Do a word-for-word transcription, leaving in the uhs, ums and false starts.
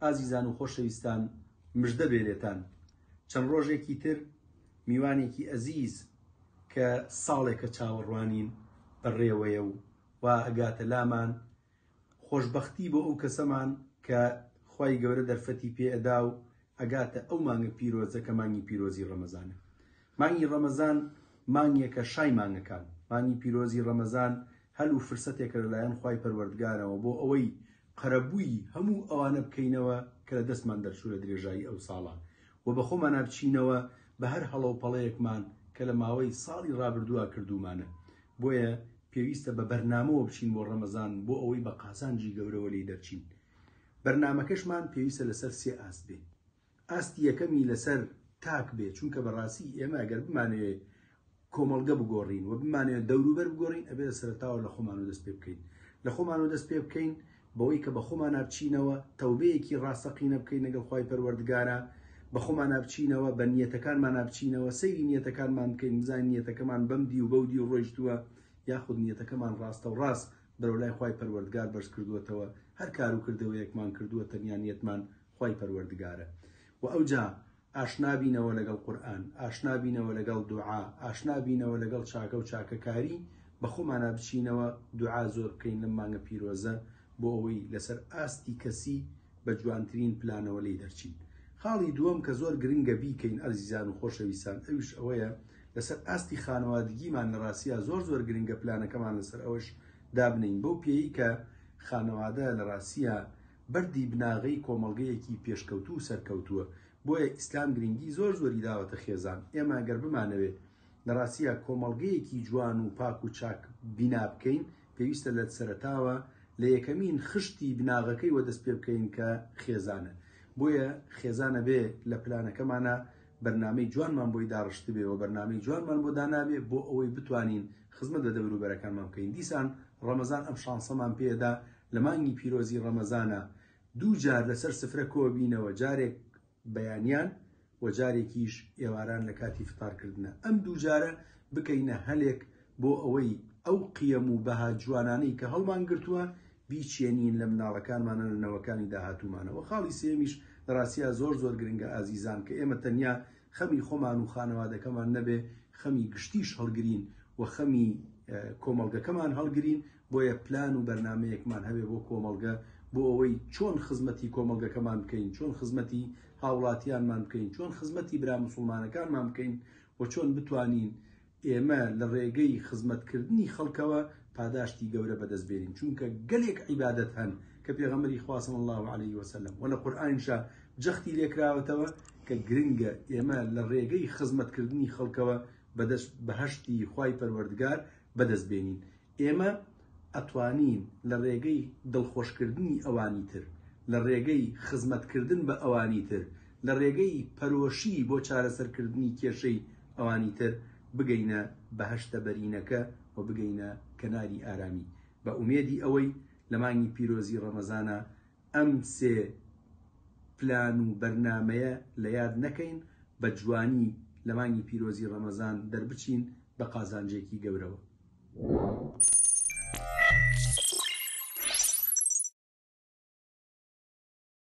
ئازیزان و خۆشەویستان، مژدە بێ لێتان، چەند ڕۆژێکی تر میوانێکی ئەزیز کە ساڵێکە چاوەڕوانین بەڕێوەیە و وا ئەگاتە لامان. خۆشبەختی بۆ ئەو کەسەمان کە خوای گەورە دەرفەتی پێ ئەدا و ئەگاتە ئەو مانگە پیرۆزە کە مانگی پیرۆزی ڕەمەزانە. مانگی ڕەمەزان مانگێکە شای مانگەکان. مانگی پیرۆزی ڕەمەزان هەل و فرسەتێکە لەلایەن خوای پەروەردگارەوە بۆ ئەوەی قەرەبووی هەموو ئەوانە بکەینەوە کە لە دەستمان دەرچوو لە درێژایی ئەو ساڵە و بە خۆمانا بچینەوە بە هەر هەڵە و پەڵەیەکمان کە لە ماوەی ساڵی ڕابردووە کردوومانە. بۆیە پێویستە بە بەرنامەوە بچین بۆ ڕەمەزان بۆ ئەوەی بە قازانجی گەورەوە لێی دەرچین. بەرنامەکەشمان پێویستە لەسەر سێ ئاست بێ. ئاستی یەکەمی لەسەر تاک بێ، چونکە بەڕاستی ئێمە ئەگەر بمانەوێ کۆمەڵگە بگۆڕین و بمانەوێت دەوروبەر بگۆڕین، ئەبێ لە سەرەتاوە لە خۆمانەوە دەست پێ بکەین. لە خۆمانەوە دەست پێ بکەین بەوەی کە بە خۆمانا بچینەوە، تەوبەیەکی ڕاستەقینە بکەین لەگەڵ خوای پەروەردگارا، بە خۆمانا بچینەوە، بە نیەتەکانمانا بچینەوە، سەیری نیەتەکانمان بکەین، بزانین نیەتەکەمان بەم دی و بەو دی و ڕۆیشتووە یاخود نیەتەکەمان ڕاستە و ڕاست بەرەو لای خوای پەروەردگار بەرز کردووەتەوە. هەر کار و کردەوەیەکمان کردووە تەنیا نیەتمان خوای پەروەردگارە. و ئەوجا ئاشنا بینەوە لەگەڵ قورئان، ئاشنا بینەوە لەگەڵ دوعا، ئاشنا بینەوە لەگەڵ چاکە و چاکەکاری، بە خۆمانا بچینەوە دوعا زۆر بکەین لەم مانگە پیرۆزە بۆ ئەوەی لەسەر ئاستی کەسی بە جوانترین پلانەوە لێی دەرچین. خاڵی دووەم کە زۆر گرنگە بیکەین ئەزیزان و خۆشەویستان، ئەویش ئەوەیە لەسەر ئاستی خانەوادگیمان لە ڕاستیا زۆر زۆر گرنگە پلانەکەمان لەسەر ئەوەش دابنین، بەو پێیی کە خانەوادە لە ڕاستیا بەردی بناغەی کۆمەڵگەیەکی پێشکەوتوو و سەرکەوتووە. بۆیە ئیسلام گرنگی زۆر زۆری داوەتە خێزان. ئێمە ئەگەر بمانەوێت لە ڕاستیا کۆمەڵگەیەکی جوان و پاک و چاک بینا بکەین، پێویستە لە سەرەتاوە لە یەکەمین خشتی بناغەکەی وە دەست پێ بکەین کە خێزانە. بۆیە خێزانە بێ لە پلانەکەمانە بەرنامەی جوانمان بۆی داڕشتبێ و بەرنامەی جوانمان بۆ دانابێ بۆ ئەوەی بتوانین خزمەت بە دەوروبەرەکانمان بکەین. دیسان ڕەمەزان ئەم شانسەمان پێدا لە مانگی پیرۆزی ڕەمەزانە دوو جار لەسەر سفرە کۆبینەوە، جارێک بەیانیان و جارێکیش ئێواران لە کاتی فتارکردنە. ئەم دوو جارە بکەینە هەلێک بۆ ئەوەی ئەو قیەم و بەها جوانانەی کە هەڵمان گرتووە بیچێنین لە مناڵەکانمانە، لە نەوەکانی داهاتوومانەوە. خاڵی سێمیش لە ڕاستیا زۆر زۆر گرنگە ئازیزان، کە ئێمە تەنیا خەمی خۆمان و خانەوادەکەمان نەبێ، خەمی گشتیش هەڵگرین و خەمی کۆمەڵگەکەمان هەڵگرین. بۆیە پلان و بەرنامەیەکمان هەبێ بۆ کۆمەڵگە، بۆ ئەوەی چۆن خزمەتی کۆمەڵگەکەمان بکەین، چۆن خزمەتی هاوڵاتیانمان بکەین، چۆن خزمەتی برا مسوڵمانەکانمان بکەین و چۆن بتوانین ئێمە لە ڕێگەی خزمەتکردنی خەڵکەوە پاداشتی گەورە بەدەست بێنین. چونکە گەلێک عیبادەت هەن کە پێغەمبەری خوا صلی الله علیه وسلم و لە قورئانیشا جەختی لێکراوەتەوە کە گرنگە ئێمە لە ڕێگەی خزمەتکردنی خەڵکەوە بەدەست بەهەشتی خوای پەروەردگار بەدەست بێنین. ئێمە ئەتوانین لە ڕێگەی دڵخۆشکردنی ئەوانی تر، لە ڕێگەی خزمەتکردن بە ئەوانی تر، لە ڕێگەی پەرۆشی بۆ چارەسەرکردنی کێشەی ئەوانی تر بگەینە بەهەشتە بەرینەکە و بگەینە کەناری ئارامی. بە ئومێدی ئەوەی لە مانگی پیرۆزی ڕەمەزانە ئەم سێ پلان و بەرنامەیە لە یاد نەکەین، بە جوانی لە مانگی پیرۆزی ڕەمەزان دەربچین بە قازانجێکی گەورەوە.